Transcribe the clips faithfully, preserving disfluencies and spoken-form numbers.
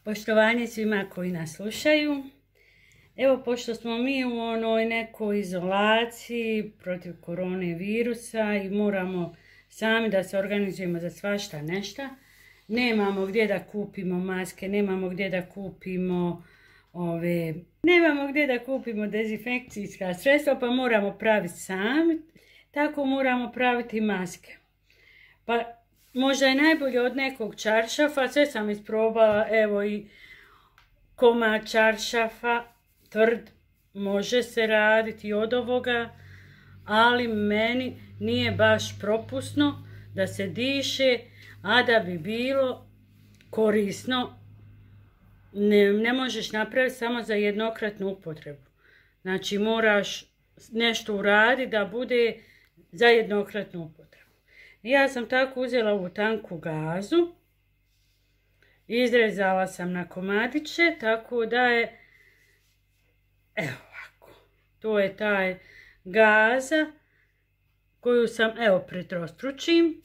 Poštovanje svima koji nas slušaju. Evo, pošto smo mi u onoj nekoj izolaciji protiv korone virusa i moramo sami da se organizujemo za svašta nešta, nemamo gdje da kupimo maske, nemamo gdje da kupimo ove, nemamo gdje da kupimo dezinfekcijska sredstva, pa moramo praviti sami, tako moramo praviti maske. Pa možda je najbolje od nekog čaršafa, sve sam isprobala, evo i komad čaršafa, tvrd, može se raditi od ovoga, ali meni nije baš propusno da se diše, a da bi bilo korisno, ne, ne možeš napraviti samo za jednokratnu upotrebu. Znači moraš nešto uraditi da bude za jednokratnu upotrebu. Ja sam tako uzela ovu tanku gazu, izrezala sam na komadiće, tako da je, evo ovako, to je taj gaza koju sam, evo, pretrostručim,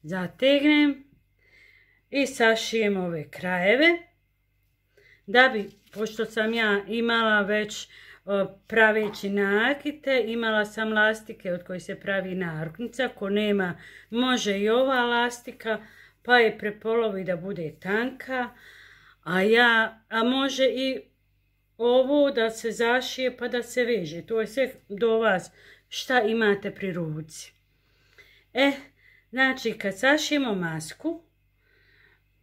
zategnem i sašijem ove krajeve, da bi, pošto sam ja imala već praveći nakite, imala sam lastike od kojih se pravi naruknica, ko nema može i ova lastika, pa je prepolovi da bude tanka, a ja, a može i ovo da se zašije pa da se veže, to je sve do vas šta imate pri ruci. E, znači kad sašijemo masku,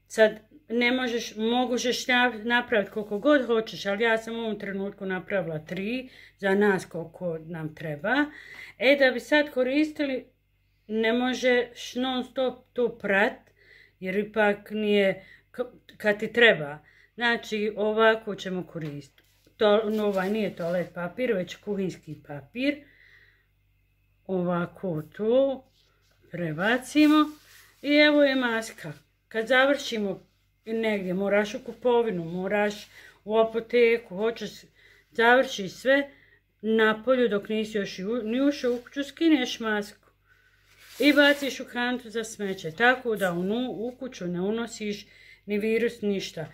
sad ne možeš, možeš napraviti koliko god hoćeš, ali ja sam u ovom trenutku napravila tri, za nas koliko nam treba. E, da bi sad koristili, ne možeš non stop to prat, jer ipak nije kad ti treba. Znači, ovako ćemo koristiti. To, no, ovaj nije toalet papir, već kuhinski papir. Ovako to prebacimo i evo je maska. Kad završimo negdje, moraš u kupovinu, moraš u apoteku, hoćeš završi sve na polju dok nisi još ni ušao u kuću, skineš masku i baciš u kantu za smeće, tako da u, u kuću ne unosiš ni virus, ništa.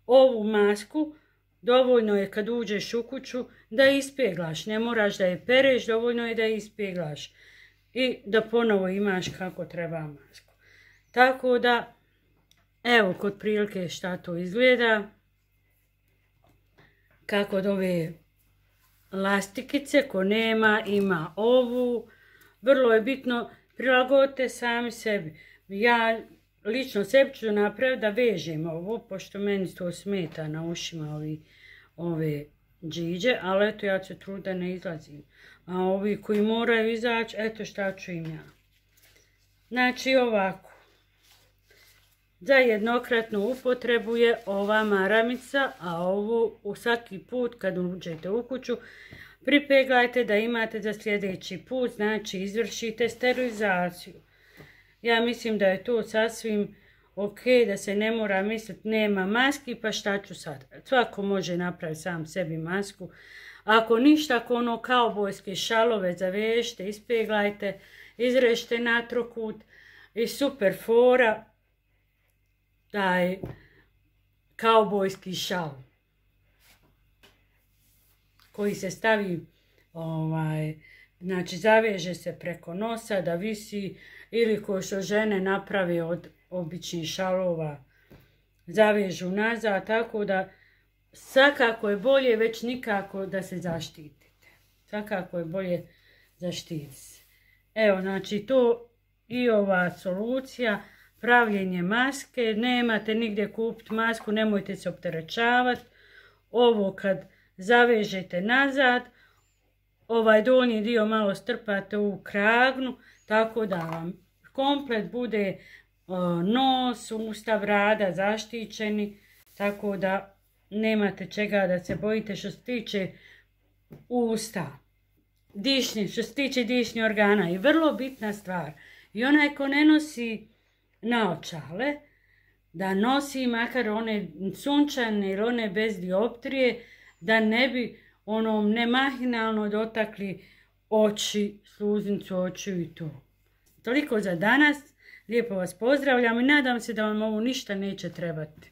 Ovu masku dovoljno je kad uđeš u kuću da ispeglaš, ne moraš da je pereš, dovoljno je da je ispeglaš i da ponovo imaš kako treba masku. Tako da, evo kod prilike šta to izgleda, kako od ove lastikice, ko nema ima ovu, vrlo je bitno prilagodite sami sebi. Ja lično sebi ću napraviti da vežem ovo, pošto meni to smeta na ušima ovi, ove džiđe, ali eto ja ću trud da ne izlazim. A ovi koji moraju izaći, eto šta ću im ja. Znači ovako. Za jednokratnu upotrebu je ova maramica, a ovu u svaki put kad uđete u kuću pripeglajte da imate za sljedeći put, znači izvršite sterilizaciju. Ja mislim da je to sasvim ok, da se ne mora misliti nema maski, pa šta ću sad. Svako može napraviti sam sebi masku. Ako ništa, ako ono kaubojske šalove zavežite, ispeglajte, izrežite na trokut i super fora. Taj kaubojski šal koji se stavi, ovaj, znači zaveže se preko nosa da visi, ili ko što žene naprave od običnih šalova zavežu nazad, tako da svakako je bolje, već nikako da se zaštitite. Svakako je bolje zaštititi se. Evo, znači to i ova solucija, pravljenje maske, nemate nigdje kupiti masku, nemojte se opterećavati. Ovo kad zavežete nazad, ovaj donji dio malo strpate u kragnu, tako da vam komplet bude o, nos, usta, brada zaštićeni, tako da nemate čega da se bojite što se tiče usta. Dišni, što se tiče dišnih organa. I vrlo bitna stvar, i onaj ko ne nosi naočale, da nosi makar one sunčane ili one bez dioptrije, da ne bi onom nemahinalno dotakli oči, sluznicu očiju i to. Toliko za danas, lijepo vas pozdravljam i nadam se da vam ovo ništa neće trebati.